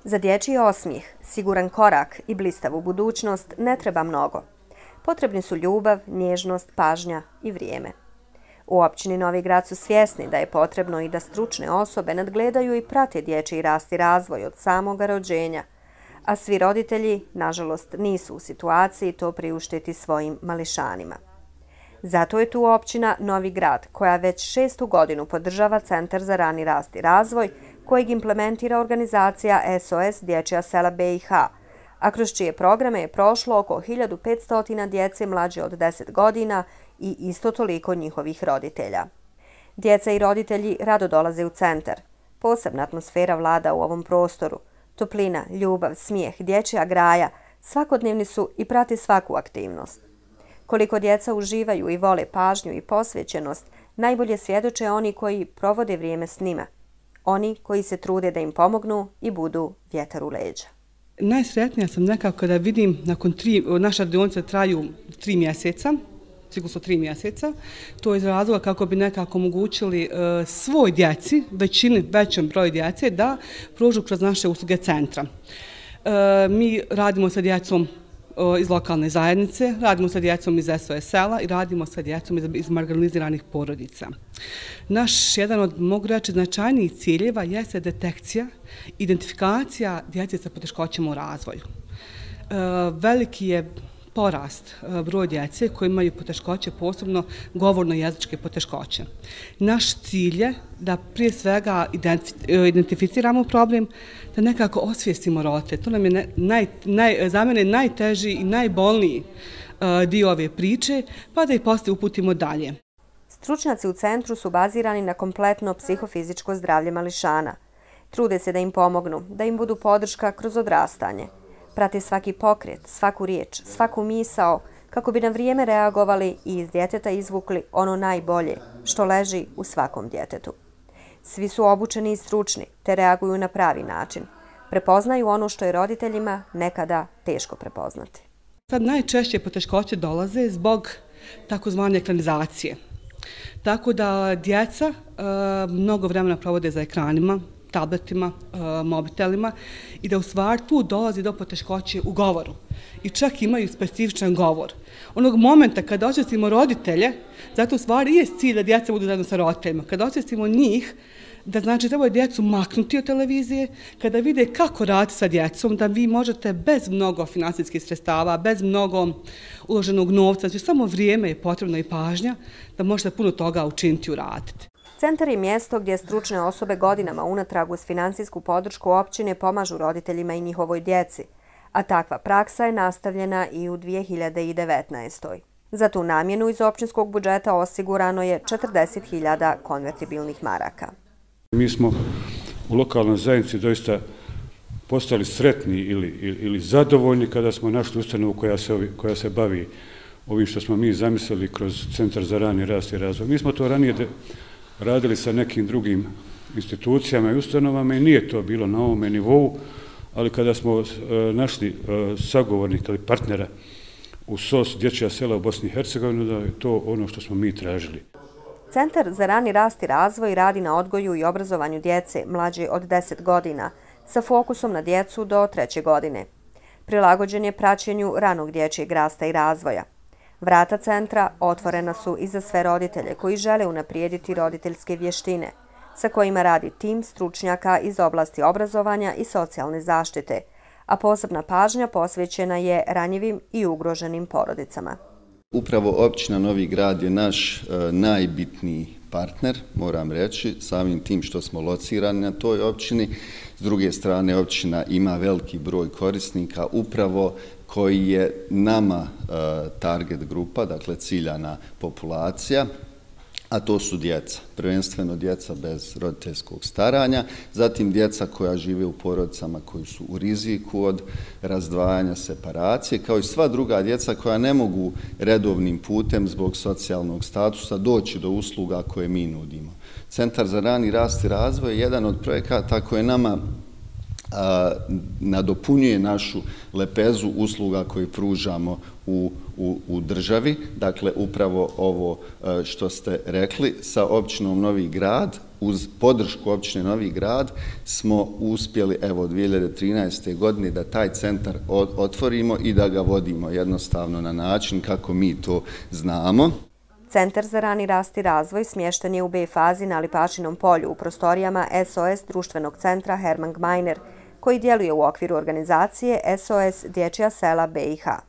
Za dječji osmijeh, siguran korak i blistavu budućnost ne treba mnogo. Potrebni su ljubav, nježnost, pažnja i vrijeme. U općini Novi Grad su svjesni da je potrebno i da stručne osobe nadgledaju i prate dječji rast i razvoj od samoga rođenja, a svi roditelji, nažalost, nisu u situaciji to priuštiti svojim mališanima. Zato je tu općina Novi Grad, koja već 6. godinu podržava Centar za rani rast i razvoj, kojeg implementira organizacija SOS Dječja sela BiH, a kroz čije programe je prošlo oko 1500 djece mlađe od 10 godina i isto toliko njihovih roditelja. Djeca i roditelji rado dolaze u centar. Posebna atmosfera vlada u ovom prostoru. Toplina, ljubav, smijeh, dječja graja svakodnevni su i prati svaku aktivnost. Koliko djeca uživaju i vole pažnju i posvećenost, najbolje svjedoče oni koji provode vrijeme s njima. Oni koji se trude da im pomognu i budu vjetar u leđa. Najsretnija sam nekako kada vidim nakon naše radionice traju 3 mjeseca, ciklusno 3 mjeseca. To je iz razloga kako bi nekako omogućili svoj djeci, većem broju djece, da prođu kroz naše usluge centra. Mi radimo sa djecom iz lokalne zajednice, radimo sa djecom iz SOS sela i radimo sa djecom iz marginaliziranih porodica. Naš jedan od, mogu reći, značajnijih ciljeva jeste detekcija, identifikacija djece sa poteškoćama u razvoju. Veliki je porast broj djece koji imaju poteškoće, posebno govorno-jezičke poteškoće. Naš cilj je da prije svega identificiramo problem, da nekako osvijestimo roditelje. To nam je za mene najteži i najbolniji dio ove priče, pa da ih poslije uputimo dalje. Stručnjaci u centru su bazirani na kompletno psihofizičko zdravlje mališana. Trude se da im pomognu, da im budu podrška kroz odrastanje. Prate svaki pokret, svaku riječ, svaku misao, kako bi na vrijeme reagovali i iz djeteta izvukli ono najbolje, što leži u svakom djetetu. Svi su obučeni i stručni, te reaguju na pravi način. Prepoznaju ono što je roditeljima nekada teško prepoznati. Sad najčešće poteškoće dolaze zbog takozvane ekranizacije. Tako da djeca mnogo vremena provode za ekranima, tabletima, mobitelima i da u stvari tu dolazi do poteškoće u govoru. I čak imaju specifičan govor. Onog momenta kada osvijestimo roditelje, zato u stvari je cilj da djeca budu zajedno sa roditeljima. Kada osvijestimo njih, da znači treba djecu maknuti od televizije, kada vide kako raditi sa djecom, da vi možete bez mnogo financijskih sredstava, bez mnogo uloženog novca, znači samo vrijeme je potrebno i pažnja, da možete puno toga učiniti i uraditi. Centar je mjesto gdje stručne osobe godinama unatrag uz financijsku podršku općine pomažu roditeljima i njihovoj djeci, a takva praksa je nastavljena i u 2019. Za tu namjenu iz općinskog budžeta osigurano je 40.000 konvertibilnih maraka. Mi smo u lokalnoj zajednici doista postali sretni ili zadovoljni kada smo našli ustanovu koja se bavi ovim što smo mi zamislili kroz Centar za rani rast i razvoj. Mi smo to ranije radili sa nekim drugim institucijama i ustanovama i nije to bilo na ovome nivou, ali kada smo našli sagovornika ili partnera u SOS Dječja sela u Bosni i Hercegovini, da je to ono što smo mi tražili. Centar za rani rast i razvoj radi na odgoju i obrazovanju djece mlađe od 10 godina sa fokusom na djecu do 3. godine. Prilagođen je praćenju ranog dječjeg rasta i razvoja. Vrata centra otvorena su i za sve roditelje koji žele unaprijediti roditeljske vještine, sa kojima radi tim stručnjaka iz oblasti obrazovanja i socijalne zaštite, a posebna pažnja posvećena je ranjivim i ugroženim porodicama. Upravo općina Novi Grad je naš najbitniji partner, moram reći, samim tim što smo locirani na toj općini. S druge strane, općina ima veliki broj korisnika, upravo koji je nama target grupa, dakle ciljana populacija, a to su djeca, prvenstveno djeca bez roditeljskog staranja, zatim djeca koja žive u porodicama koji su u riziku od razdvajanja, separacije, kao i sva druga djeca koja ne mogu redovnim putem zbog socijalnog statusa doći do usluga koje mi nudimo. Centar za rani rast i razvoj je jedan od projekata koje nama nadopunjuje našu lepezu usluga koje pružamo u državi. Dakle, upravo ovo što ste rekli, sa općinom Novi Grad, uz podršku općine Novi Grad, smo uspjeli, evo, 2013. godine da taj centar otvorimo i da ga vodimo jednostavno na način kako mi to znamo. Centar za rani rast i razvoj smješten je u B fazi na Lipašinom polju u prostorijama SOS društvenog centra Hermann Gmeiner, koji djeluje u okviru organizacije SOS Dječja sela BiH.